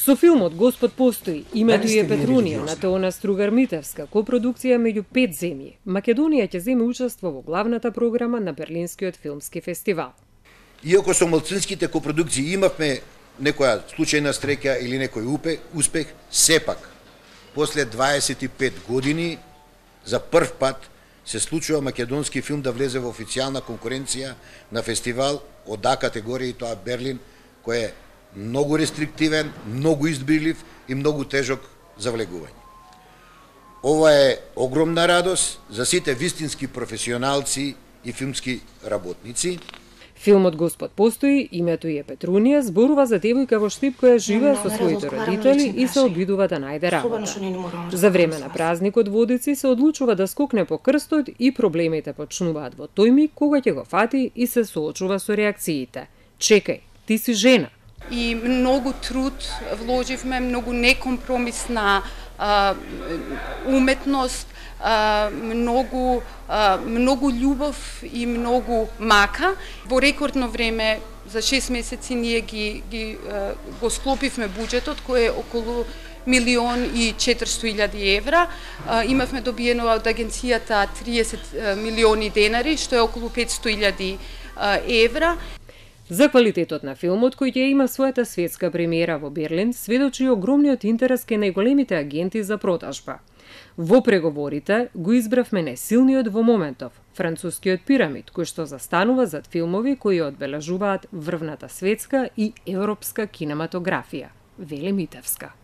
Со филмот Господ постои, името е Петрунија на Теона Стругар-Митевска, копродукција меѓу 5 земји. Македонија ќе земе учество во главната програма на Берлинскиот филмски фестивал. Иако со малцинските копродукции имавме некоја случајна среќа или некој успех, сепак после 25 години за прв пат се случува македонски филм да влезе во официјална конкуренција на фестивал од А категорија, и тоа Берлин, кој е многу рестриктивен, многу избирлив и многу тежок за влегување. Ова е огромна радост за сите вистински професионалци и филмски работници. Филмот Господ постои, името е Петрунија, зборува за девојка во Штип која живее со своите родители и се обидува да најде работа. За време на празникот водици се одлучува да скокне по крстот и проблемите почнуваат во тој миг кога ќе го фати и се соочува со реакциите. Чекај, ти си жена. И многу труд вложивме, многу некомпромисна уметност, многу љубов и многу мака. Во рекордно време, за 6 месеци, ние го склопивме буџетот, кој е околу 1.400.000 евра. Имавме добиено од агенцијата 30 милиони денари, што е околу 500.000 евра. За квалитетот на филмот, кој ќе има својата светска премиера во Берлин, сведочи огромниот интерес кај најголемите агенти за продажба. Во преговорите го избравме најсилниот во моментов, францускиот Пирамид, кој што застанува зад филмови кои одбележуваат врвната светска и европска кинематографија, вели Митевска.